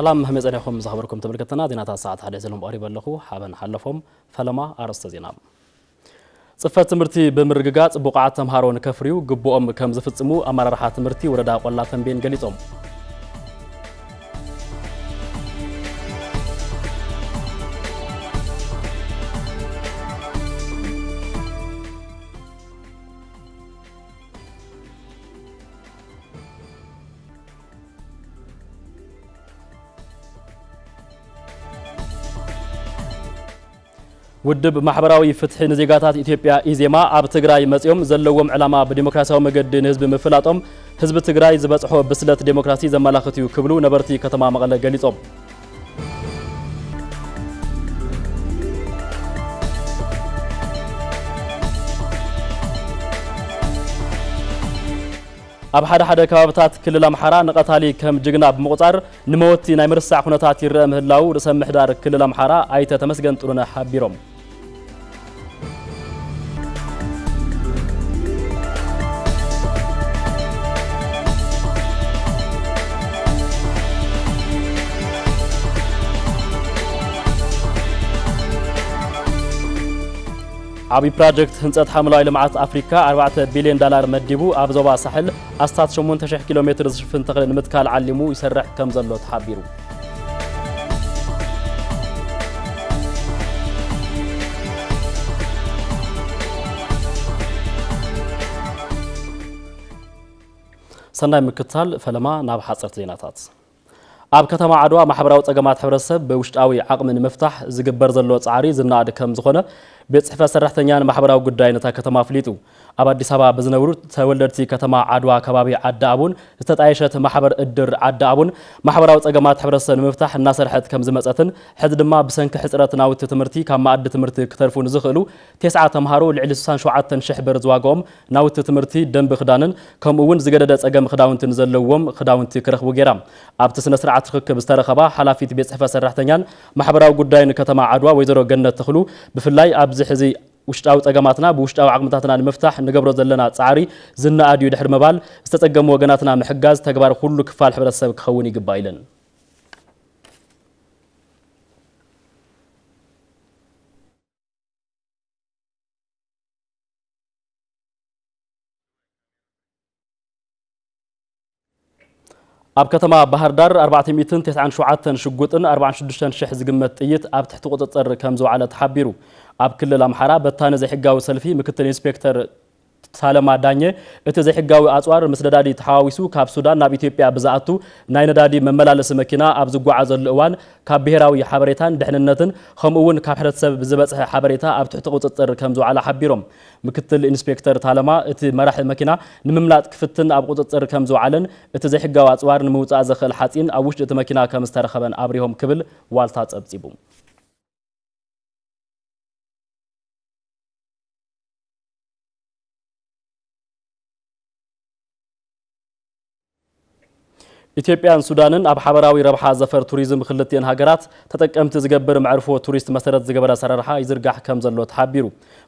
ሰላም፣ ከመይ ጸኒሕኩም ዝኸበርኩም ተመልከትና? ዜናታት ሰዓት ሓደ ሒዘሎም ቀሪበ ኣለኹ። ሓበን ሓለፎም። ፈለማ ኣርእስተ ዜና። ጽፈት ትምህርቲ ብምርግጋጽ ብቑዓት ተምሃሮ ንከፍርዩ ግቡኦም ከም ዝፍጽሙ ኣመራርሓ ትምህርቲ ወረዳ ቆላ ተንቤን ገሊጾም። ውድብ ማሕበራዊ ፍትሒ ንዜጋታት ኢትዮጵያ፣ ኢዜማ፣ ኣብ ትግራይ መጺኦም ዘለዎም ዕላማ ብዲሞክራሲያዊ መገዲ ንህዝቢ ምፍላጦም፣ ህዝቢ ትግራይ ዝበጽሖ ብስለት ዴሞክራሲ ዘመላኽት እዩ ክብሉ ነበርቲ ከተማ መቐለ ገሊጾም። ኣብ ሓደ ሓደ ከባብታት ክልል ኣምሓራ ንቐታሊ ከም ጅግና ብምቑጻር፣ ንመወቲ ናይ ምርሳዕ ኩነታት ይረአ ምህላዉ ርእሰ ምሕዳር ክልል ኣምሓራ ኣይተ ተመስገን ጥሩነህ ሓቢሮም። ዓብዪ ፕሮጀክት ህንፀት ሓምለዋይ ልምዓት ኣፍሪካ ኣርባዕተ ቢልዮን ዳላር መዲቡ ኣብ ዞባ ሳሕል ኣስታት ሸሞንተ ሽሕ ኪሎ ሜትር ዝሽፍን ተኽሊ ንምትካል ዓሊሙ ይሰርሕ ከም ዘሎ ተሓቢሩ። ሰናይ ምክትታል። ፈለማ ናብ ሓፀርቲ ዜናታት። ኣብ ከተማ ዓድዋ ማሕበራዊ ጸገማት ሕብረተሰብ ብውሽጣዊ ዓቕሚ ንምፍታሕ ዝግበር ዘሎ ጻዕሪ ዝነኣድ ከም ዝኾነ ቤት ጽሕፈት ሰራሕተኛን ማሕበራዊ ጉዳይን እታ ከተማ ኣፍሊጡ። ኣብ ኣዲስ ኣበባ ብዝነብሩ ተወለድቲ ከተማ ዓድዋ ከባቢ ዓዲ ኣቡን ዝተጣየሸት ማሕበር እድር ዓዲ ኣቡን ማሕበራዊ ጸገማት ሕብረተሰብ ንምፍታሕ እናሰርሐት ከም ዝመጸትን ሕዚ ድማ ብሰንኪ ሕጽረት ናውቲ ትምህርቲ ካብ መኣዲ ትምህርቲ ክተርፉ ንዝኽእሉ ተስዓ ተምሃሮ ልዕሊ ስሳን ሸውዓተን ሽሕ ብር ዝዋግኦም ናውቲ ትምህርቲ፣ ደንቢ ክዳንን ከምኡ እውን ዝገደደ ጸገም ክዳውንትን ዘለዎም ክዳውንቲ ክረኽቡ ገይራ። ኣብቲ ስነ ስርዓት ርክክብ ዝተረኸባ ሓላፊት ቤት ጽሕፈት ሰራሕተኛን ማሕበራዊ ጉዳይን ከተማ ዓድዋ ወይዘሮ ገነት ተኽሉ፣ ብፍላይ ኣብዚ ሕዚ ውሽጣዊ ጸገማትና ብውሽጣዊ ዓቕምታትና ንምፍታሕ ንገብሮ ዘለና ጻዕሪ ዝነኣድ እዩ ድሕሪ ምባል፣ ዝተጸገሙ ወገናትና ምሕጋዝ ተግባር ኩሉ ክፋል ሕብረተሰብ ክኸውን ይግባእ ኢለን። ኣብ ከተማ ባህር ዳር ኣርባዕተ ሚእትን ተስዓን ሸውዓተን ሽጉጥን ኣርባዓን ሽዱሽተን ሽሕ ዝግመት ጥይት ኣብ ትሕቲ ቁጽጽር ከም ዝወዓለ ተሓቢሩ። ኣብ ክልል ኣምሓራ በታኒ ዘይሕጋዊ ሰልፊ ምክትል ኢንስፔክተር ሳለማ ዳኘ፣ እቲ ዘይሕጋዊ ኣጽዋር ምስ ነዳዲ ተሓዋዊሱ ካብ ሱዳን ናብ ኢትዮጵያ ብዝኣቱ ናይ ነዳዲ መመላለሲ መኪና ኣብ ዝጓዓዘሉ እዋን ካብ ብሄራዊ ሓበሬታን ድሕንነትን ከምኡ እውን ካብ ሕብረተሰብ ብዝበጽሐ ሓበሬታ ኣብ ትሕቲ ቁጽጽር ከም ዝወዓለ ሓቢሮም። ምክትል ኢንስፔክተር ታለማ፣ እቲ መራሒ መኪና ንምምላጥ ክፍትን ኣብ ቁጽጽር ከም ዝወዓለን እቲ ዘይሕጋዊ ኣጽዋር ንምውጻእ ዘኽእል ሓጺን ኣብ ውሽጢ እቲ መኪና ከም ዝተረኸበን ኣብሪሆም ክብል ዋልታ ጸብጺቡ። ኢትዮጵያን ሱዳንን ኣብ ሓበራዊ ረብሓ ዘፈር ቱሪዝም ክልቲኤን ሃገራት ተጠቀምቲ ዝገብር መዕርፎ ቱሪስት መሰረት ዝገበረ ኣሰራርሓ ይዝርጋሕ ከም ዘሎ ተሓቢሩ።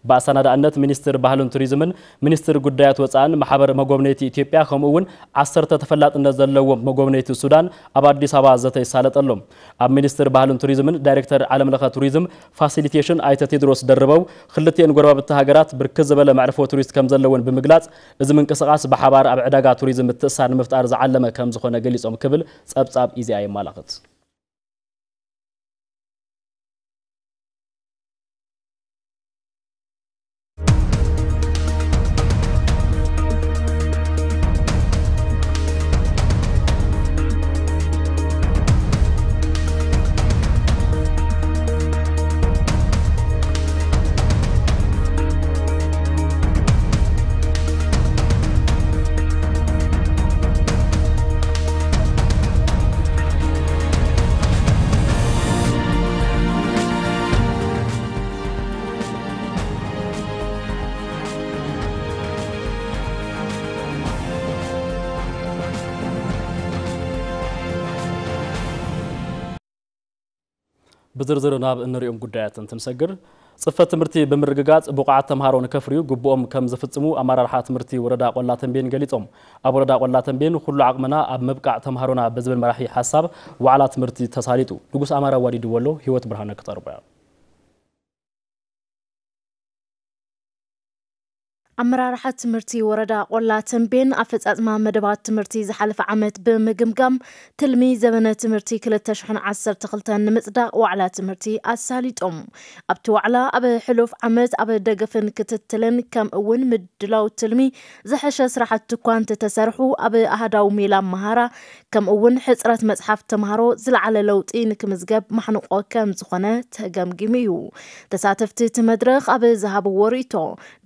ብኣሰናዳእነት ሚኒስትር ባህልን ቱሪዝምን ሚኒስትር ጉዳያት ወፃእን ማሕበር መጎብነይቲ ኢትዮጵያ ከምኡ እውን ዓሰርተ ተፈላጥነት ዘለዎም መጎብነይቲ ሱዳን ኣብ ኣዲስ ኣበባ ዘተ ይሳለጠሎም። ኣብ ሚኒስትር ባህልን ቱሪዝምን ዳይሬክተር ዓለምለኸ ቱሪዝም ፋሲሊቴሽን ኣይተ ቴድሮስ ደርበው፣ ክልቲኤን ጎረባብቲ ሃገራት ብርክት ዝበለ መዕርፎ ቱሪስት ከም ዘለውን ብምግላፅ፣ እዚ ምንቅስቓስ ብሓባር ኣብ ዕዳጋ ቱሪዝም ምትእስሳር ንምፍጣር ዝዓለመ ከም ዝኾነ ገሊጾም ክብል ጸብጻብ ኢዜኣ የመላኽት። ብዝርዝር ናብ እንሪኦም ጉዳያት እንትንሰግር፣ ጽፈት ትምህርቲ ብምርግጋጽ ብቑዓት ተምሃሮ ንከፍርዩ ግቡኦም ከም ዝፍጽሙ ኣመራርሓ ትምህርቲ ወረዳ ቆላ ተንቤን ገሊጾም። ኣብ ወረዳ ቆላ ተንቤን ኩሉ ዓቕምና ኣብ ምብቃዕ ተምሃሮና ብዝብል መራሒ ሓሳብ ዋዕላ ትምህርቲ ተሳሊጡ። ንጉስ ኣማራ ዋዲድዎ ኣሎ፣ ህይወት ብርሃነ ክተርቦያ። ኣመራርሓ ትምህርቲ ወረዳ ቆላ ተንቤን ኣፈጻጽማ መደባት ትምህርቲ ዝሓለፈ ዓመት ብምግምጋም ትልሚ ዘበነ ትምህርቲ ክልተ ሽሕን ዓሰርተ ክልተን ንምጽዳቕ ዋዕላ ትምህርቲ ኣሳሊጦም። ኣብቲ ዋዕላ ኣብ ሕሉፍ ዓመት ኣብ ደገፍን ክትትልን ከምኡ እውን ምድላው ትልሚ ዝሐሸ ስራሕቲ እኳ እንተተሰርሑ ኣብ ኣሃዳዊ ሜላ ኣመሃራ ከምኡ እውን ሕጽረት መጽሓፍ ተምሃሮ ዝለዓለ ለውጢ ንክምዝገብ ማሕንቆ ከም ዝኾነ ተገምጊሙ እዩ። ተሳተፍቲ እቲ መድረኽ ኣብ ዝሃብዎ ርእይቶ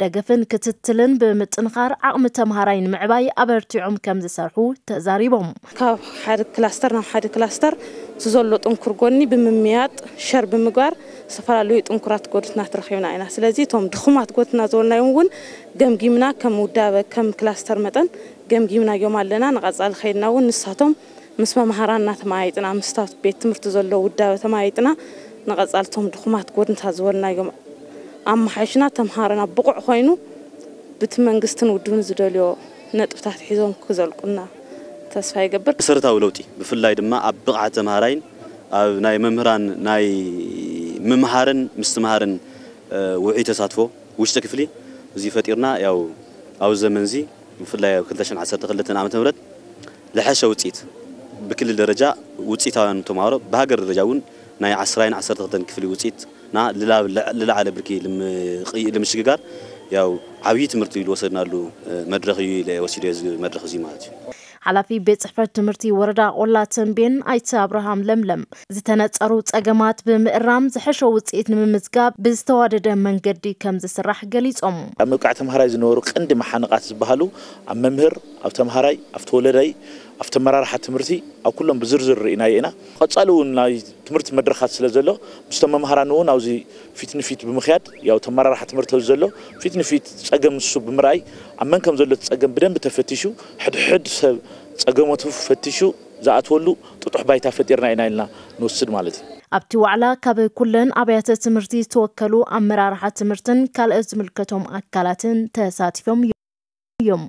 ደገፍን ክትትልን ብምጥንኻር ዓቕሚ ተምሃራይ ንምዕባይ ኣበርቲዖም ከም ዝሰርሑ ተዛሪቦም። ካብ ሓደ ክላስተር ናብ ሓደ ክላስተር እቲ ዘሎ ጥንኩር ጎኒ ብምምያጥ ሸር ብምግባር ዝተፈላለዩ ጥንኩራት ጎድትናት ረኺብና ኢና። ስለዚ እቶም ድኹማት ጎድትና ዝበልናዮም እውን ገምጊምና ከም ውዳበ ከም ክላስተር መጠን ገምጊምናዮም ኣለና። ንቐጻሊ ከይድና እውን ንሳቶም ምስ መምሃራንና ተመያይጥና፣ ምስታ ቤት ትምህርቲ ዘሎ ውዳበ ተመያይጥና፣ ንቐጻልቶም ድኹማት ጎድንታት ዝበልናዮም ኣመሓይሽና ተምሃሮና ብቑዕ ኮይኑ ብቲ መንግስትን ውድብን ዝደልዮ ነጥብታት ሒዞም ክዘልቁና ተስፋ ይገብር። መሰረታዊ ለውጢ ብፍላይ ድማ ኣብ ብቕዓት ተምሃራይን ኣብ ናይ መምህራን ናይ ምምሃርን ምስትምሃርን ውዑይ ተሳትፎ ውሽጢ ክፍሊ እዚ ፈጢርና ያው ኣብዚ ዘመን እዚ ብፍላይ ኣብ ክልተ ሽሕን ዓሰርተ ክልተን ዓመተ ምህረት ዝሐሸ ውፅኢት ብክልል ደረጃ ውፅኢታውያን ተምሃሮ ብሃገር ደረጃ እውን ናይ ዓስራይን ዓሰርተ ክልተን ክፍሊ ውፅኢትና ልላ- ልላዕለ ብርኪ ልምቕይ- ልምሽግጋር ያው ዓብዪ ትምህርቲ ኢሉ ወሰድናሉ መድረኽ እዩ ኢለ ወሲደ እዚ መድረኽ እዚ ማለት እዩ። ሓላፊ ቤት ጽሕፈት ትምህርቲ ወረዳ ቆላ ተንቤን ኣይተ ኣብርሃም ለምለም ዝተነጸሩ ጸገማት ብምእራም ዝሐሸ ውፅኢት ንምምዝጋብ ብዝተዋደደ መንገዲ ከም ዝስራሕ ገሊጾም። ኣብ ምብቃዕ ተምሃራይ ዝነበሩ ቀንዲ መሓንቓት ዝበሃሉ ኣብ መምህር፣ ኣብ ተወለዳይ፣ ኣብ ተመራርሓ ትምህርቲ ኣብ ኩሎም ብዝርዝር ርኢናዮ ኢና። ቀጻሊ እውን ናይ ትምህርቲ መድረኻት ስለ ዘሎ ምስቶም መምሃራን እውን ኣብዚ ፊት ንፊት ብምኽያድ ያው ተመራርሓ ትምህርቲ ኣብዚ ዘሎ ፊት ንፊት ጸገም ንሱ ብምርኣይ ኣብ መን ከም ዘሎ እቲ ጸገም ብደንብ ተፈቲሹ ሕድሕድ ሰብ ጸገሞቱ ፈቲሹ ዝኣትወሉ ጥጡሕ ባይታ ፈጢርና ኢና ኢልና ንወስድ ማለት እዩ። ኣብቲ ዋዕላ ካብ ኩለን ኣብያተ ትምህርቲ ዝተወከሉ ኣመራርሓ ትምህርትን ካልኦት ዝምልከቶም ኣካላትን ተሳቲፎም እዮም።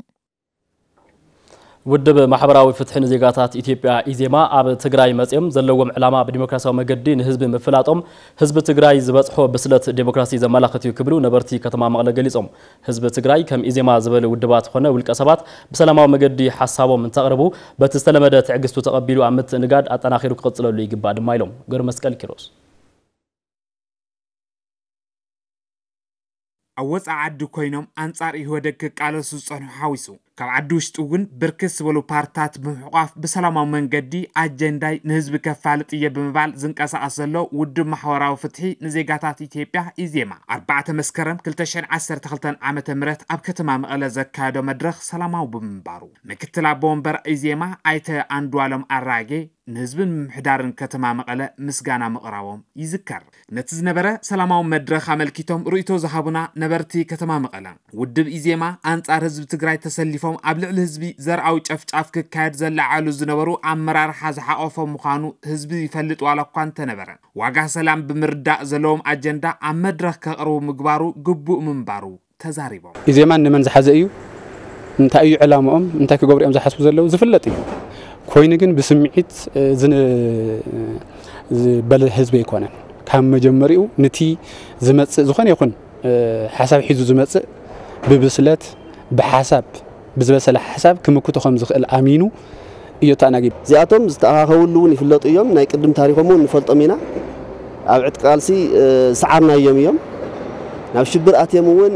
ውድብ ማሕበራዊ ፍትሒ ንዜጋታት ኢትዮጵያ ኢዜማ ኣብ ትግራይ መጺኦም ዘለዎም ዕላማ ብዲሞክራሲያዊ መገዲ ንህዝቢ ምፍላጦም ህዝቢ ትግራይ ዝበጽሖ ብስለት ዴሞክራሲ ዘመላኽት እዩ ክብሉ ነበርቲ ከተማ መቐለ ገሊጾም። ህዝቢ ትግራይ ከም ኢዜማ ዝበሉ ውድባት ኾነ ውልቀ ሰባት ብሰላማዊ መገዲ ሓሳቦም እንተቕርቡ በቲ ዝተለመደ ትዕግስቱ ተቐቢሉ ኣብ ምትእንጋድ ኣጠናኺሩ ክቕጽለሉ ይግባእ ድማ ኢሎም። ገብረ መስቀል ኪሮስ። ኣብ ወፃኢ ዓዲ ኮይኖም ኣንፃር ኢህወደግ ክቃለሱ ዝፀንሑ ሓዊሱ ካብ ዓዲ ውሽጢ እውን ብርክት ዝበሉ ፓርትታት ብምሕቋፍ ብሰላማዊ መንገዲ ኣጀንዳይ ንህዝቢ ከፋልጥ እየ ብምባል ዝንቀሳቐስ ዘሎ ውድብ ማሕበራዊ ፍትሒ ንዜጋታት ኢትዮጵያ ኢዜማ ኣርባዕተ መስከረም ክልተ ሽሕን ዓሰርተ ክልተን ዓመተ ምህረት ኣብ ከተማ መቐለ ዘካየዶ መድረኽ ሰላማዊ ብምንባሩ ምክትል ኣቦ ወንበር ኢዜማ ኣይተ ኣንዱኣለም ኣራጌ ንህዝብን ምምሕዳርን ከተማ መቐለ ምስጋና ምቕራቦም ይዝከር። ነቲ ዝነበረ ሰላማዊ መድረኽ ኣመልኪቶም ርእይቶ ዝሃቡና ነበርቲ ከተማ መቐለ፣ ውድብ ኢዜማ ኣንጻር ህዝቢ ትግራይ ተሰሊፎም ኣብ ልዕሊ ህዝቢ ዘርኣዊ ጨፍጫፍ ክካየድ ዘለዓሉ ዝነበሩ ኣመራርሓ ዝሓቖፈ ምዃኑ ህዝቢ ይፈልጥ ዋላ እኳ እንተነበረ፣ ዋጋ ሰላም ብምርዳእ ዘለዎም ኣጀንዳ ኣብ መድረኽ ከቕርቡ ምግባሩ ግቡእ ምንባሩ ተዛሪቦም። ኢዜማ ንመን ዝሓዘ እዩ? እንታይ እዩ ዕላምኦም? እንታይ ክገብሩ እዮም ዝሓስቡ ዘለዉ? ዝፍለጥ እዩ። ኮይኑ ግን ብስምዒት፣ እ፣ ዝን-፣ ዝበለ ህዝቢ ኣይኮነን። ካብ መጀመሪኡ ንቲ ዝመጽእ ዝኾነ ይኹን፣ እ፣ ሓሳብ ሒዙ ዝመጽእ ብብስለት፣ ብሓሳብ፣ ብዝበሰለ ሓሳብ ክምክቶ ከም ዝኽእል ኣሚኑ እዩ ተኣናጊዱ። እዚኣቶም ዝተኣኻኸብሉ እውን ይፍለጡ እዮም። ናይ ቅድም ታሪኾም እውን ንፈልጦም ኢና። ኣብ ዕጥቂ ቃልሲ፣ እ፣ ዝሰዓርናዮም እዮም። ናብ ሽብር ኣትዮም እውን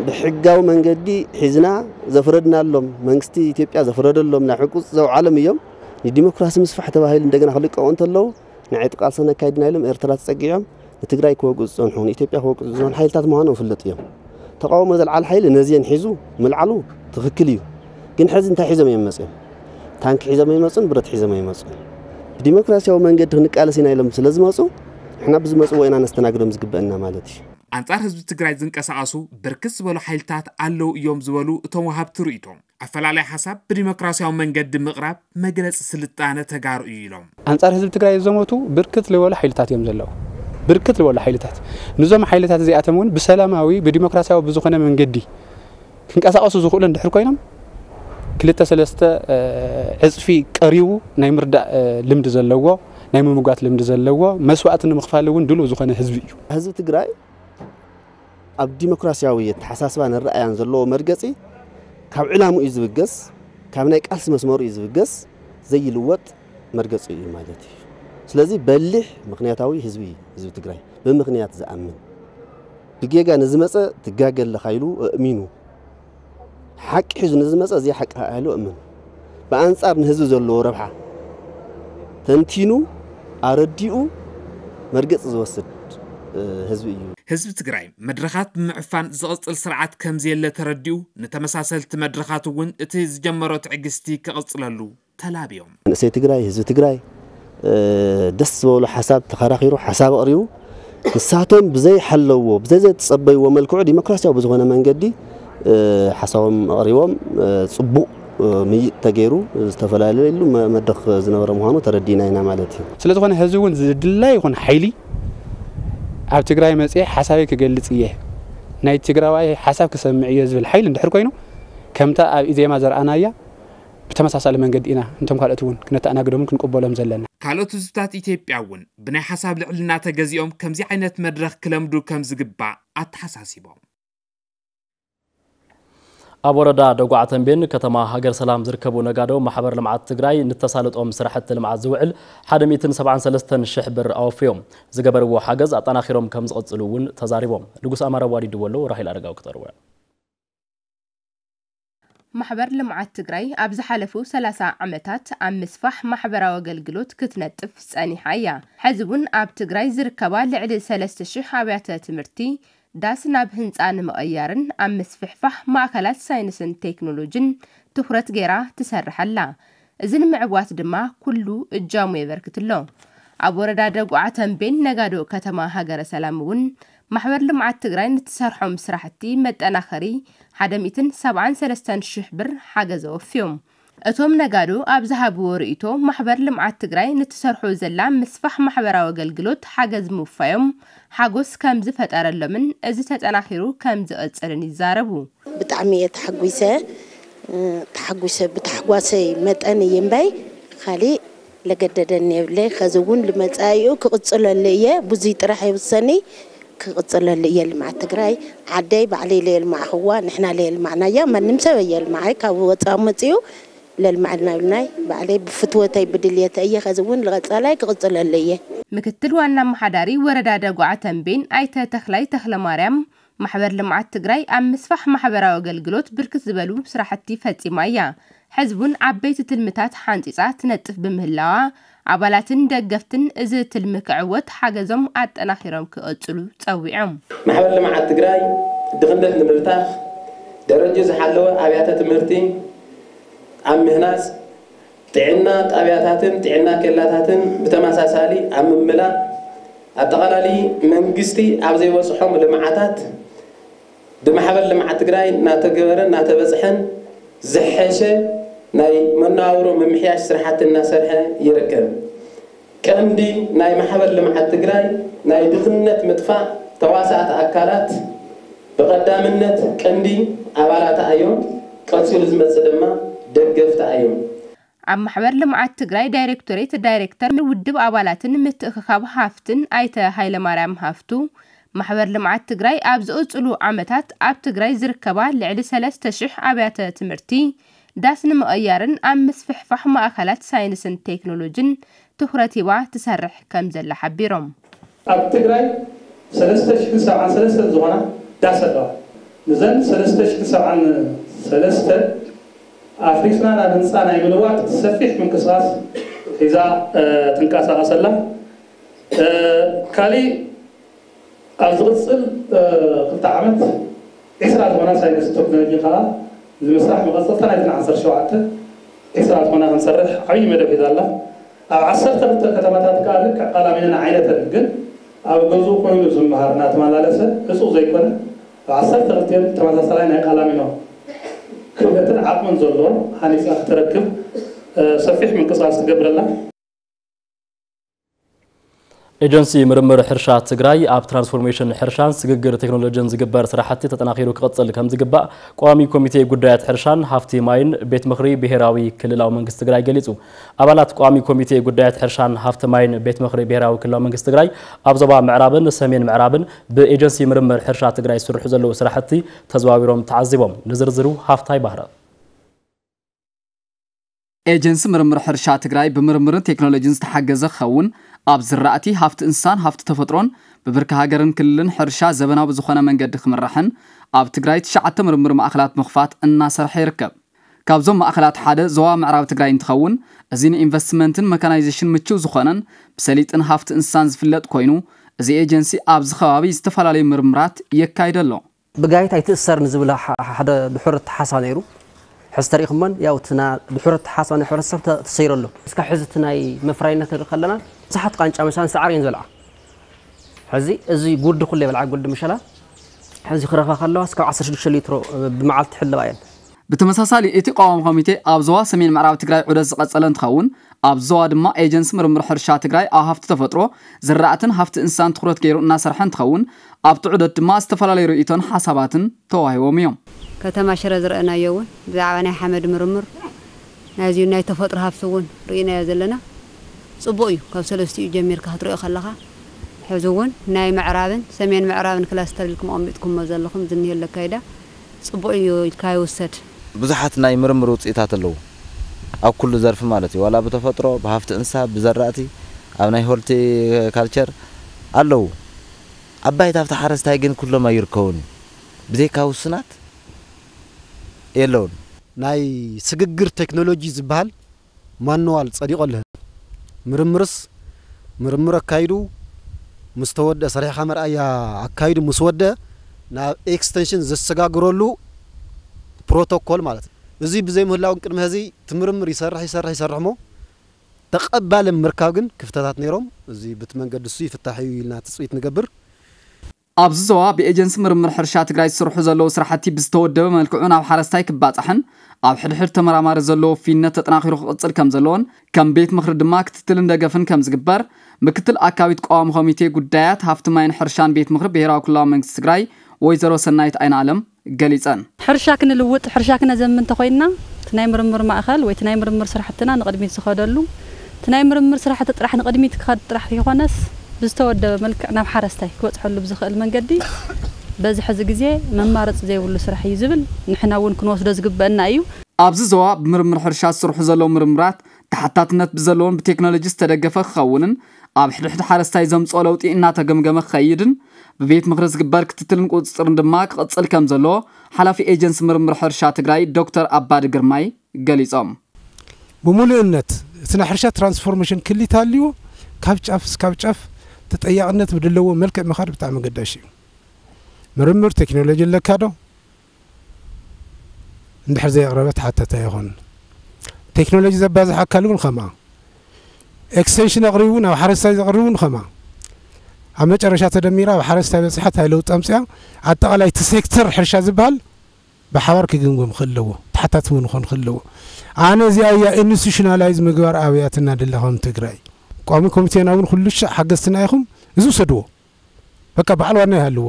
ብሕጋዊ መንገዲ ሒዝና ዘፍረድናሎም፣ መንግስቲ ኢትዮጵያ ዘፍረደሎም፣ ናብ ሕቁፅ ዘውዓሎም እዮም። ንዲሞክራሲ ምስፋሕ ተባሂሉ እንደገና ክልቀቑ እንተለዉ፣ ንዕጥቂ ቃልሲ ነካይድና ኢሎም ኤርትራ ተጸጊዖም ንትግራይ ክወግኡ ዝጸንሑ፣ ንኢትዮጵያ ክወግኡ ዝጸንሑ ሓይልታት ምዃኖም ይፍለጥ እዮም። ተቃውሞ ዘልዓለ ሓይሊ ነዚአን ሒዙ ምልዓሉ ትኽክል እዩ። ግን ሕዚ እንታይ ሒዞም እዮም መጺኦም? ታንኪ ሒዞም ኣይመጹን፣ ብረት ሒዞም ኣይመጹን። ብዲሞክራሲያዊ መንገዲ ክንቃለስ ኢና ኢሎም ስለ ዝመጹ፣ ንሕና ብዝመጽዎ ኢና ነስተናግዶም ዝግበአና ማለት እዩ። ኣንጻር ህዝቢ ትግራይ ዝንቀሳቐሱ ብርክት ዝበሉ ሓይልታት ኣለዉ እዮም ዝበሉ እቶም ወሃብቲ ርእይቶ፣ ኣፈላላይ ሓሳብ ብዲሞክራሲያዊ መንገዲ ምቕራብ መግለጺ ስልጣነ ተጋሩ እዩ ኢሎም። ኣንጻር ህዝቢ ትግራይ ዝዘመቱ ብርክት ዝበሉ ሓይልታት እዮም ዘለዉ። ብርክት ዝበሉ ሓይልታት፣ ንዞም ሓይልታት እዚኣቶም እውን ብሰላማዊ ብዲሞክራሲያዊ ብዝኾነ መንገዲ ክንቀሳቐሱ ዝኽእሉ እንድሕር ኮይኖም፣ ክልተ ሰለስተ ዕፅፊ ቀሪቡ ናይ ምርዳእ ልምዲ ዘለዎ፣ ናይ ምምጓት ልምዲ ዘለዎ፣ መስዋእቲ ንምኽፋል እውን ድሉው ዝኾነ ህዝቢ እዩ። ህዝቢ ትግራይ ኣብ ዲሞክራሲያዊ ኣተሓሳስባን ኣረኣእያን ዘለዎ መርገፂ ካብ ዕላምኡ እዩ ዝብገስ፣ ካብ ናይ ቃልሲ መስመሩ እዩ ዝብገስ፣ ዘይልወጥ መርገፂ እዩ ማለት እዩ። ስለዚ በሊሕ ምኽንያታዊ ህዝቢ እዩ ህዝቢ ትግራይ፣ ብምኽንያት ዝኣምን፣ ብጌጋ ንዝመፀ ትጋገ ኣለኻ ኢሉ ኣእሚኑ፣ ሓቂ ሒዙ ንዝመፀ እዚ ሓቂ ኢሉ ኣእምኑ፣ ብኣንፃር ንህዝቢ ዘለዎ ረብሓ ተንቲኑ ኣረዲኡ መርገፂ ዝወስድ ህዝቢ እዩ። ህዝቢ ትግራይ መድረኻት ብምዕፋን ዝቕፅል ስርዓት ከምዘየለ ተረዲኡ፣ ንተመሳሰልቲ መድረኻት እውን እቲ ዝጀመሮ ትዕግስቲ ክቕፅለሉ ተላብዮም። መንእሰይ ትግራይ፣ ህዝቢ ትግራይ ደስ ዝበሎ ሓሳብ ተኸራኺሩ ሓሳብ ኣቕሪቡ፣ ንሳቶም ብዘይሓለዎ ብዘይ ዘተፀበይዎ መልክዑ ዲሞክራሲያዊ ብዝኾነ መንገዲ ሓሳቦም ኣቕሪቦም፣ ፅቡቕ ምይጥ ተገይሩ፣ ዝተፈላለየሉ መድረኽ ዝነበረ ምዃኑ ተረዲእና ኢና ማለት እዩ። ስለዝኾነ ህዝቢ እውን ዝድላይ ይኹን ሓይሊ ኣብ ትግራይ መፅየ ሓሳበይ ክገልፅ እየ፣ ናይ ትግራዋይ ሓሳብ ክሰምዕ እየ ዝብል ሓይሊ እንድሕር ኮይኑ፣ ከምታ ኣብ ኢዜማ ዘርኣናያ ብተመሳሳሊ መንገዲ ኢና ነቶም ካልኦት እውን ክነተኣናግዶምን ክንቅበሎም ዘለና። ካልኦት ህዝብታት ኢትዮጵያ እውን ብናይ ሓሳብ ልዕልና ተገዚኦም ከምዚ ዓይነት መድረኽ ክለምዱ ከምዝግባእ ኣተሓሳሲቦም። ኣብ ወረዳ ደጉዓ ተንቤን ከተማ ሃገር ሰላም ዝርከቡ ነጋዶ ማሕበር ልምዓት ትግራይ ንተሳልጦም ስራሕቲ ልምዓት ዝውዕል ሓደ ሚእትን ሰብዓን ሰለስተን ሽሕ ብር ኣወፍዮም። ዝገበርዎ ሓገዝ ኣጠናኺሮም ከምዝቕፅሉ እውን ተዛሪቦም። ንጉስ ኣማረ ኣዋዲድዎ ኣሎ፣ ራሄል ኣረጋዊ ክተርወ። ማሕበር ልምዓት ትግራይ ኣብ ዝሓለፉ ሰላሳ ዓመታት ኣብ ምስፋሕ ማሕበራዊ ኣገልግሎት ክትነጥፍ ጸኒሓ እያ። ሕዚ እውን ኣብ ትግራይ ዝርከባ ልዕሊ ሰለስተ ሽሕ ኣብያተ ትምህርቲ ዳስ ናብ ህንጻ ንምቕያርን ኣብ ምስፍሕፋሕ ማእከላት ሳይንስን ቴክኖሎጅን ትኹረት ገይራ ትሰርሕ ኣላ። እዚ ንምዕዋት ድማ ኩሉ እጃሙ የበርክት ኣሎ። ኣብ ወረዳ ደጉዓ ተንቤን ነጋዶ ከተማ ሃገረ ሰላም እውን ማሕበር ልምዓት ትግራይ ንትሰርሖም ስራሕቲ መጠናኸሪ ሓደ ሚእትን ሰብዓን ሰለስተን ሽሕ ብር ሓገዝ ኣወፍዮም። እቶም ነጋዶ ኣብ ዝሃብዎ ርእይቶ፣ ማሕበር ልምዓት ትግራይ ንትሰርሖ ዘላ ምስፋሕ ማሕበራዊ ኣገልግሎት ሓገዝ ምውፋዮም ሓጎስ ከም ዝፈጠረሎምን እዚ ተጠናኺሩ ከም ዝቕፅልን ይዛረቡ። ብጣዕሚ እየ ተሓጒሰ። ተሓጒሰ ብታሕጓሰይ መጠን እዩ እምበይ ካሊእ ለገደደኒ የብለይ። ኸዚ እውን ልመፃኢኡ ክቕፅለሉ እየ። ብዙይ ጥራሕ የውሰኒ ክቕፅለሉ እየ። ልምዓት ትግራይ ዓደይ ባዕለይ ለየልማዕኽዋ ንሕና ለየልማዕናያ ማንም ሰብ ኣየልማዓይ ካብ ወፃኢ መፅኡ ለልማዕልና ኢሉናይ ባዕለይ ብፍትወተይ ብድልየተ እየ። ኸዚ እውን ልቐፃላይ ክቕፅለሉ እየ። ምክትል ዋና ኣመሓዳሪ ወረዳ ደጉዓ ተንቤን ኣይተ ተኽላይ ተኽለማርያም ማሕበር ልምዓት ትግራይ ኣብ ምስፋሕ ማሕበራዊ ኣገልግሎት ብርክት ዝበሉ ስራሕቲ ፈፂማ እያ። ሕዚ እውን ዓበይቲ ትልምታት ሓንፂፃ ትነጥፍ ብምህላዋ ኣባላትን ደገፍትን እዚ ትልሚ ክዕወት ሓገዞም ኣጠናኺሮም ክቕፅሉ ፀዊዖም። ማሕበር ልምዓት ትግራይ ድኽነት ንምብታኽ፣ ደረጅኡ ዝሓለወ ኣብያተ ትምህርቲ ኣብ ምህናፅ፣ ጥዕና ጣብያታትን ጥዕና ኬላታትን ብተመሳሳሊ ኣብ ምምላእ፣ ኣጠቓላሊ መንግስቲ ኣብ ዘይበፅሖም ልምዓታት ብማሕበር ልምዓት ትግራይ እናተገበረን እናተበፅሐን ዝሐሸ ናይ መነባብሮ ምምሕያሽ ስራሕቲ እናሰርሐ ይርከብ። ቀንዲ ናይ ማሕበር ልምዓት ትግራይ ናይ ድኽነት ምጥፋእ ተዋሳእቲ ኣካላት ብቐዳምነት ቀንዲ ኣባላታ እዮም። ቀፂሉ ዝመፅእ ድማ ደገፍታ እዮም። ኣብ ማሕበር ልምዓት ትግራይ ዳይሬክቶሬት ዳይሬክተር ውድብ ኣባላትን ምትእኽኻብ ሃፍትን ኣይተ ሃይለማርያም ሃፍቱ፣ ማሕበር ልምዓት ትግራይ ኣብ ዝቕፅሉ ዓመታት ኣብ ትግራይ ዝርከባ ልዕሊ ሰለስተ ሽሕ ኣብያተ ትምህርቲ ዳስ ንምቕያርን ኣብ ምስፍሕፋሕ ማእኸላት ሳይንስን ቴክኖሎጅን ትኹረት ሂባ ትሰርሕ ከም ዘላ ሓቢሮም። ኣብ ትግራይ ሰለስተ ሽሕን ሰብዓን ሰለስተን ዝኾና ዳስ ኣለዋ። ንዘን ሰለስተ ሽሕን ሰብዓን ሰለስተን ኣፍሪስና ናብ ህንፃ ናይ ምልዋጥ ሰፊሕ ምንቅስቓስ ሒዛ ትንቀሳቐስ ኣላ። ካሊእ ኣብ ዝቕፅል ክልተ ዓመት ዒስራ ዝኾና ሳይንስ ቴክኖሎጂ ከዓ ንምስራሕ መቐፀልታ ናይተን ዓሰርተ ሸውዓተ ዒስራ ዝኾና ክንሰርሕ ዓብዪ መደብ ሒዛ ኣላ። ኣብ ዓሰርተ ክልተ ከተማታት ከዓ ልክዕ ቃላሚኖን ዓይነተን ግን ኣብ ገዝኡ ኮይኑ ዝመሃር እናተመላለሰ ዕፁው ዘይኮነ ኣብ ዓሰርተ ክልቲኤን ተመሳሳላይ ናይ ቃላሚኖ ክእለትን ዓቕምን ዘለዎ ሃኒፃ ክትረክብ ሰፊሕ ምንቅስቃስ ትገብር ኣላ። ኤጀንሲ ምርምር ሕርሻ ትግራይ ኣብ ትራንስፎርሜሽን ሕርሻን ስግግር ቴክኖሎጂን ዝግበር ስራሕቲ ተጠናኺሩ ክቕፅል ከም ዝግባእ ቋሚ ኮሚቴ ጉዳያት ሕርሻን ሃፍቲ ማይን ቤት ምኽሪ ብሄራዊ ክልላዊ መንግስቲ ትግራይ ገሊፁ። ኣባላት ቋሚ ኮሚቴ ጉዳያት ሕርሻን ሃፍቲ ማይን ቤት ምኽሪ ብሄራዊ ክልላዊ መንግስቲ ትግራይ ኣብ ዞባ ምዕራብን ሰሜን ምዕራብን ብኤጀንሲ ምርምር ሕርሻ ትግራይ ዝስርሑ ዘለዉ ስራሕቲ ተዘዋዊሮም ተዓዚቦም። ንዝርዝሩ ሃፍታይ ባህረ። ኤጀንሲ ምርምር ሕርሻ ትግራይ ብምርምርን ቴክኖሎጂን ዝተሓገዘ ክኸውን፣ ኣብ ዝራእቲ፣ ሃፍቲ እንስሳን ሃፍቲ ተፈጥሮን ብብርኪ ሃገርን ክልልን ሕርሻ ዘበናዊ ብዝኾነ መንገዲ ክምራሕን ኣብ ትግራይ ትሽዓተ ምርምር ማእኸላት ምኽፋት እናሰርሐ ይርከብ። ካብዞም ማእኸላት ሓደ ዞባ ምዕራብ ትግራይ እንትኸውን፣ እዚ ንኢንቨስትመንትን መካናይዜሽን ምችው ዝኾነን ብሰሊጥን ሃፍቲ እንስሳን ዝፍለጥ ኮይኑ፣ እዚ ኤጀንሲ ኣብዚ ከባቢ ዝተፈላለዩ ምርምራት የካይድ ኣሎ። ብጋይት ኣይትእሰር ንዝብል ሐ-፣ ሓደ ድሑር ኣተሓሳብ ነይሩ። ሕዚ ተሪእኹሞን፣ ያው፣ እቲ ና-፣ ድሑር ኣተሓሳብ ናይ ሕብረተሰብ ተ-፣ ተሰይሩ ኣሎ። እስካብ ሕዚ እቲ ናይ መፍራይነት ንርኢ ከለና፣ ብዙሓት ቃንጫ መሳን ሳዕሪ እየን ዝበልዓ። ሕዚ እዚ ጉዲ ኩሉ ይበልዓ፣ ጉዲ ምሸላ። ሕዚ ክረኽባ ከለዋ፣ እስካብ ዓሰርተ ሽዱሽተ ሊትሮ ብመዓልቲ ይሕለባ እየን። ብተመሳሳሊ፣ እቲ ቀዋሚ ኮሚቴ ኣብ ዞባ ሰሜን ምዕራብ ትግራይ ዑደት ዝቐጸለ እንትኸውን፣ ኣብዚ ዞባ ድማ ኤጀንሲ ምርምር ሕርሻ ትግራይ ኣብ ሃፍቲ ተፈጥሮ፣ ዝራእትን ሃፍቲ እንስሳን ትኹረት ገይሩ እናሰርሐ እንትኸውን፣ ኣብቲ ዑደት ድማ ዝተፈላለዩ ርእይቶን ሓሳባትን ተዋሂቦም እዮም። ከተማ ሽረ ዝረኣናዮ እውን ብዛዕባ ናይ ሓመድ ምርምር፣ ናይዚ ናይ ተፈጥሮ ሃፍቲ እውን ርኢናዮ ዘለና። ጽቡቕ እዩ። ካብ ሰለስቲኡ ጀሚርካ ክትሪኦ ከለኻ፣ ሕዚ እውን ናይ ምዕራብን ሰሜን ምዕራብን ክላስተር ኢልኩም ኣቐሚጥኩሞ ዘለኹም ዝኒሀ ለካይዳ ጽቡቕ እዩ ኢልካ ይውሰድ። ብዙሓት ናይ ምርምር ውፅኢታት ኣለዉ። ኣብ ኩሉ ዘርፊ ማለት እዩ። ዋላ ብተፈጥሮ፣ ብሃፍቲ እንስሳ፣ ብዘራእቲ፣ ኣብ ናይ ሆልቲ ካልቸር ኣለዉ። ኣብ ባይታ ኣብቲ ሓረስታይ ግን ኩሎም ኣይርከቡን እዩ። ብዘይካ ውሱናት የለውን። ናይ ስግግር ቴክኖሎጂ ዝበሃል ማንዋል ጸዲቑ ኣሎ። ምርምርስ ምርምር ኣካይዱ ምስ ተወደ፣ ሰሪሕኻ መርኣያ ኣካይዱ ምስ ወደ ናብ ኤክስቴንሽን ዘሰጋግረሉ ፕሮቶኮል ማለት እዩ። እዚ ብዘይምህላው ቅድሚ ሕዚ እቲ ምርምር ይሰርሕ፣ ይሰርሕ፣ ይሰርሕ እሞ ተቐባሊ ምርካብ ግን ክፍተታት ነይሮም። እዚ ብቲ መንገዲ እሱ ይፍታሕ እዩ ኢልና ትጽቢት ንገብር። ኣብዚ ዞባ ብኤጀንሲ ምርምር ሕርሻ ትግራይ ዝስርሑ ዘለዉ ስራሕቲ ብዝተወደበ መልክዑ ናብ ሓረስታይ ክባጻሕን ኣብ ሕድሕድ ተመራማሪ ዘለዎ ውፍይነት ተጠናኺሩ ክቕጽል ከም ዘለዎን ከም ቤት ምኽሪ ድማ ክትትልን ደገፍን ከም ዝግበር ምክትል ኣካቢት ቀዋሚ ኮሚቴ ጉዳያት ሃፍቲ ማይን ሕርሻን ቤት ምኽሪ ብሄራዊ ክልላዊ መንግስቲ ትግራይ ወይዘሮ ሰናይት ኣይንኣለም ገሊጸን። ሕርሻ ክንልውጥ፣ ሕርሻ ክነዘምን እንተኾይንና፣ እቲ ናይ ምርምር ማእኸል ወይ እቲ ናይ ምርምር ስራሕትና ንቕድሚት ዝኸደሉ፣ እቲ ናይ ምርምር ስራሕቲ ጥራሕ ንቕድሚት ክኸድ ጥራሕ ዘይኮነስ፣ ብዝተወደበ መልክዕ ናብ ሓረስታይ ክበጽሐሉ ብዝኽእል መንገዲ፣ በዚ ሕዚ ግዜ መማረፂ ዘይብሉ ስራሕ እዩ ዝብል፣ ንሕና እውን ክንወስዶ ዝግበአና እዩ። ኣብዚ ዞባ ብምርምር ሕርሻ ዝስርሑ ዘለዉ ምርምራት ተሓታትነት ብዘለዎን ብቴክኖሎጂ ዝተደገፈ ክኸውንን ኣብ ሕድሕድ ሓረስታይ ዘምፅኦ ለውጢ እናተገምገመ ክኸይድን ብቤት ምኽሪ ዝግበር ክትትልን ቁፅፅርን ድማ ክቕፅል ከም ዘለዎ ሓላፊ ኤጀንሲ ምርምር ሕርሻ ትግራይ ዶክተር ኣባዲ ግርማይ ገሊፆም። ብምሉእነት እቲ ናይ ሕርሻ ትራንስፎርሜሽን ክሊት ኣልዎ ካብ ጫፍ እስካብ ጫፍ ተጠያቕነት ብድለዎ መልክዕ ምኻድ ብጣዕሚ ኣገዳሲ እዩ። ምርምር ቴክኖሎጂ ኣለካ ዶ? እንድሕር ዘየቕረበ ተሓታታይ ኣይኾኑን። ቴክኖሎጂ ዘባዝሕ ኣካል እውን ኸማ፣ ኤክስቴንሽን ኣቕሪቡ ናብ ሓረስታይ ዘቕርብ እውን ኸማ፣ ኣብ መጨረሻ ተደሚራ ኣብ ሓረስታይ በፂሓ እንታይ ለውጢ ኣምፅኣ፣ ኣጠቓላይ እቲ ሴክተር ሕርሻ ዝበሃል ብሓባር ክግምገም ክህልዎ፣ ተሓታቲ እውን ክኾን ክህልዎ። ኣነ እዚኣ እያ ኢንስቲቱሽናላይዝ ምግባር ኣብያትና ደላ ከም ትግራይ። ቋሚ ኮሚቴና እውን ኩሉ ሻዕ ሓገዝትና ኢኹም፣ እዚ ውሰድዎ። በቃ በዓል ዋና ይሃልዎ።